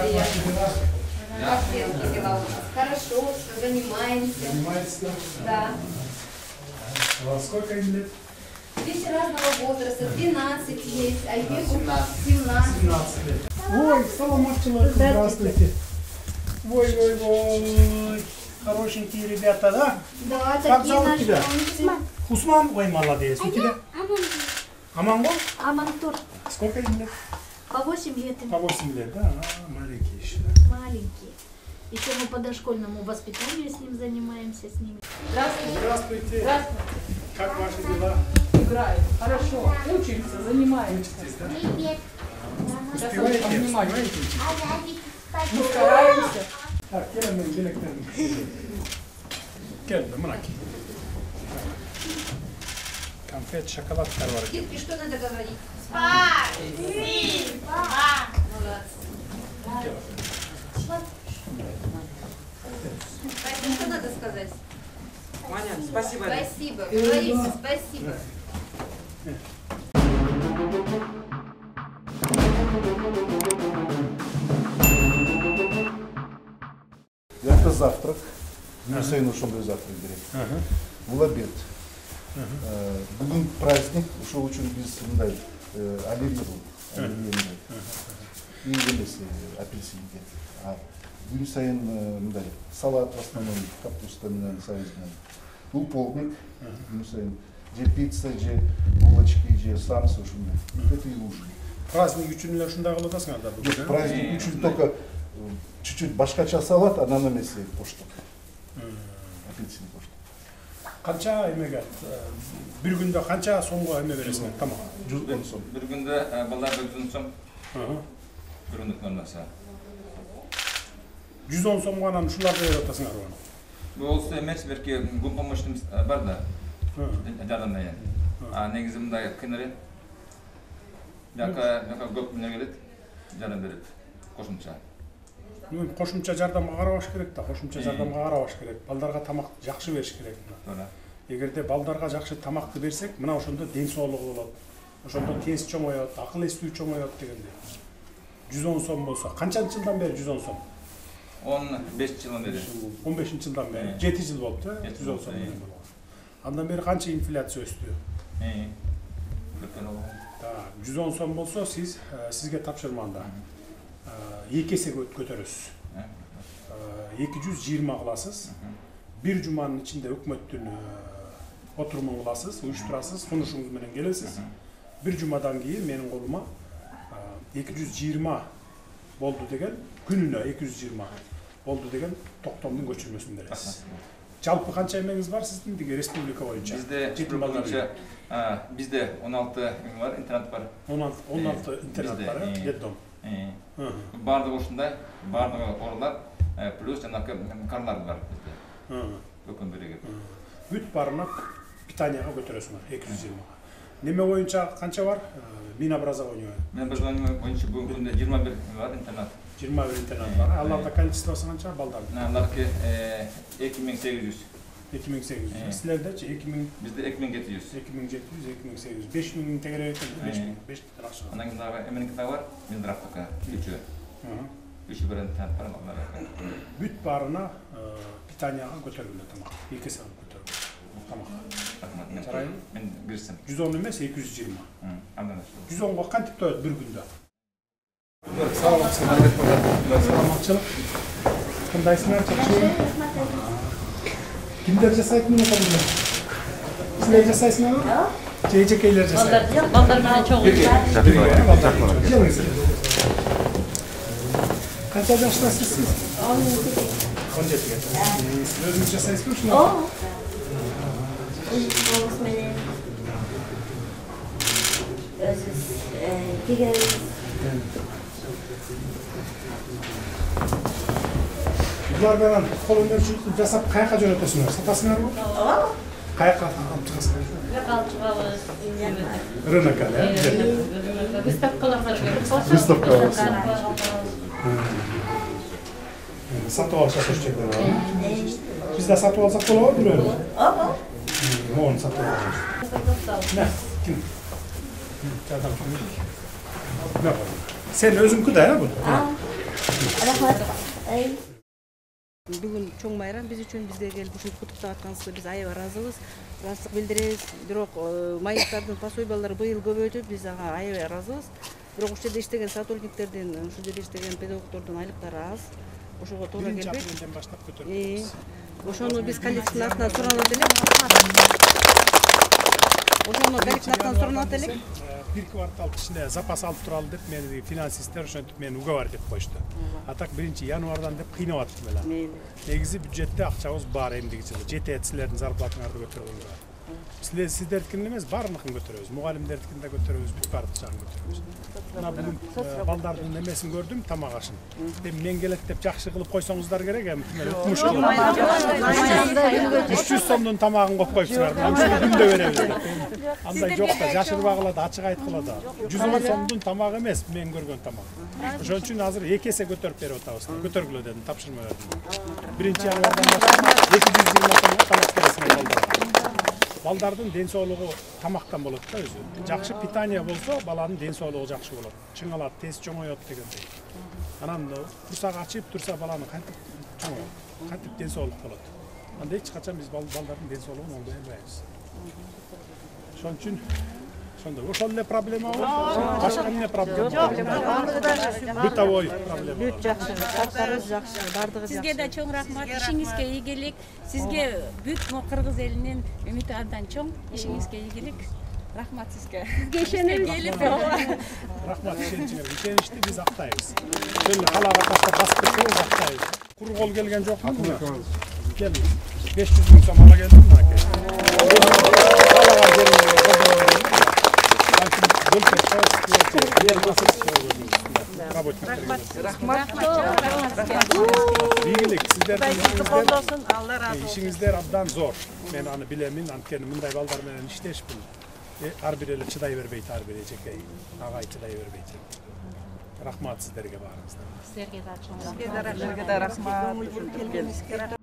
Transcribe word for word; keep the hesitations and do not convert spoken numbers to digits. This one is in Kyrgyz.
дела? Как дела у нас? Хорошо, занимаемся. Занимаетесь, да? Да. А сколько им лет? Дети разного возраста, двенадцать есть, а Егору семнадцать. семнадцать лет. Ой, саламатчилык, здравствуйте. Ой, ой, ой, хорошенькие ребята, да? Да, как такие зовут наши тебя? Усман. Усман, ой, молодец. У тебя? Амангол? Амантур. Сколько им лет? По восемь лет. По восемь лет, да? А, маленькие еще. Маленькие. Еще мы по дошкольному воспитанию с ним занимаемся, с ними. Здравствуйте. Здравствуйте. Здравствуйте. Как ваши дела? Играем. Хорошо. Учимся, занимаемся. Учитесь, да? Привет. Успеваете? Внимание. Успеваете? Мы стараемся. Так, келin men белектерим. Келди, мынаки. Конфет, шоколадтар бар. Детки, что надо говорить? Спасибо. Молодцы. Что надо сказать? Маня, спасибо. Спасибо. Говорите спасибо. Это завтрак. Гүнсайын ошондой завтрак берет. Бул обед. Бүгүн праздник, ошол үчүн биз мындай оливье бул. И эмес апельсинге. Күн сайын мындай салат в основном, капуста менен сабиз менен. Бул полдник, күн сайын же пицца, же булочки, же самсы ушундай. Это и ужин. Праздник үчүн эле ушундай кылып атасыңар да? Жок, праздник үчүн только чуть-чуть башкача салат, анан эмеси пошток. Апельсин пошток. Канча эмеге? Бир күндө канча сомго эме бересиңер? Тамак. жүз он сом. Бир күндө балдар жүз он сом. Бир күндүк нормасы. жүз он сомго анан ушуларды берип атасыңар аны. Бул эмес, берки гум помощный бар да. Жардамдайын. А негизи мындай кыйын эле. Жака, жака көп эмне келет, жардам берет. Кошумча. Кошумча жардамга карабаш керек да, кошумча жардамга карабаш керек. Балдарга тамак жакшы бериш керек. Туура. Эгерде балдарга жакшы тамакты берсек, мына ошондо ден соолугу болот. Ошондо тез чоңоёт, акыл эстүү чоңоёт дегенде. жүз он сом болсо, канчанчы жылдан бери жүз он сом? он беш жылдан бери. он бешинчи жылдан бери. жети жыл болду, э? жүз он сом. Андан бери канча инфляция өстү? Э. Так, жүз он сом болсо, сиз сизге тапшырманда эки эсе көтөрөсүз. эки жүз жыйырма кыласыз. Бир жуманын ичинде өкмөттүн отурумун кыласыз, уюштурасыз, сунушуңуз менен келесиз. Бир жумадан кийин менин колума эки жүз жыйырма болду деген, күнүнө эки жүз жыйырма болду деген токтомдун көчүрмөсүн бересиз. Жалпы канча эмеңиз бар сиздин деги республика боюнча? Бизде жетим балдар. Бизде он алты бар, интернат бар. он алты интернат бар, э? Детдом. Бардыгы ушундай, бардыгы орлар, плюс жанакы карлар бар бизде. Өкүн береги. Бүт баарына питанияга көтөрөсүңөр эки жүз жыйырма. Неме боюнча канча бар? Минобразование. Минобразование боюнча бүгүнкү күндө жыйырма бир бар интернат. жыйырма бир интернат бар. Аларда количествосу канча балдардын? Аларки эки миң сегиз жүз. эки миң сегиз жүз. Силердечи эки миң? Бизде эки миң жети жүз. эки миң жети жүз, эки миң сегиз жүз. беш миң тегере экен, беш миң, беш миң акча. Анан кийин дагы эменики дагы бар, Минздравтыкы үчөө. Үчөө бир интернат бар алар. Бүт баарына питанияга көтөрүлөт тамак. эки эсе көтөрүлөт. Тамак. Жарайбы? Мен берсем. жүз он эмес, эки жүз жыйырма. Андан. жүз онго кантип тоет бир күндө? Саламатчылык. Кандайсыңар, жакшыбы? Кимдер жасайт муну колунда? Силер жасайсыңарбы? Же эжекейлер жасайт? Балдар менен чогуу. Канча жаштасыз сиз? он жетиге. Сиз өзүңүз жасайсызбы ушуну? Ооба. Өзүбүз менен өзүбүз тигебиз. Булар менен кол өнөрчүлүктү жасап каяка жөнөтөсүңөр? Сатасыңарбы? Ооба. Каяка алып чыгасыңар? Алып чыгабыз. Рынокко, да? Выставкаларга чыгабыз. Выставкаларга. Сатып алышат ошол жерде бар. Бизде сатып алсак болобу бирөө? Ооба. Мону сатып алабыз. На, ким? Жардам. Сен өзүңкү да, э, бул? Бүгүн чоң майрам биз үчүн, бизге келип ушинтип куттуктап атканыңызга биз аябай ыраазыбыз. Ыраазычылык билдиребиз. Бирок майыптардын пособиялары быйыл көбөйдү, биз ага аябай ыраазыбыз. Бирок ушул жерде иштеген сотрудниктердин, ушул жерде иштеген педагогдордун айлыктары аз. Ошого туура келбейт. Биринчи апрелден баштап көтөрүлөт. Ошону биз коллективдин атынан суранат элек. Ошону коллективдин атынан суранат элек. Бир квартал ичинде запас алып туралы деп мени финансисттер ошентип мени уговор деп коюшту. А так биринчи январдан деп кыйнап атышты эле. Негизи бюджетте акчабыз бар эмдиги жылы. Жетет силердин зарплатаңарды көтөргөнгө. Силер сиздердикин эмес, баардыгын көтөрөбүз. Мугалимдердикин да көтөрөбүз, бүт баардык жагын көтөрөбүз. Мына бүгүн балдардын эмесин көрдүм, тамак ашын. Эми мен келет деп жакшы кылып койсоңуздар керек, эми укмуш кылып. үч жүз сомдун тамагын коюп коюпсуңар. Ушуну күндө беребиз деп. Андай жок да, жашырбагыла да, ачык айткыла да. жүз он сомдун тамагы эмес, мен көргөн тамак. Ошон үчүн азыр эки эсе көтөрүп берип атабыз. Көтөргүлө дедим, тапшырма бердим. Биринчи январдан баштап эки жүз жыйырма сомго тамак бересиңер балдарга. Балдардын ден соолугу тамактан болот да өзү. Жакшы питание болсо, баланын ден соолугу жакшы болот. Чыңалат, тез чоңоёт дегендей. Анан курсак ачып турса, баланын кантип чоңоёт, кантип ден соолук болот. Анда эч качан биз балдардын ден соолугун оңдой албайбыз. Ошон үчүн ошондой. Ошол эле проблема бар. Башка эмне проблема? Бытовой проблема. Бүт жакшы, шарттарыбыз жакшы, бардыгы жакшы. Сизге да чоң рахмат, ишиңизге ийгилик. Сизге бүт кыргыз элинин үмүтү абдан чоң. Ишиңизге ийгилик. Рахмат сизге. Сизге ишенебиз. Рахмат ишеничиңерге. Ишеничти биз актайбыз. Ошол калаага таштап басып кетсеңиз актайбыз. Кур кол келген жокму? Кел. беш жүз миң сом ала келдим мынакей. Калаага келип Рахмат. Ийгилик, сиздердин ишиңиздер абдан зор. Мен аны билемин, анткени мындай балдар менен иштешпин. Ар бир эле чыдай бербейт, ар бир эжекей агай чыдай бербейт. Рахмат сиздерге баарыңызга. Сизге да чоң Сизге да рахмат.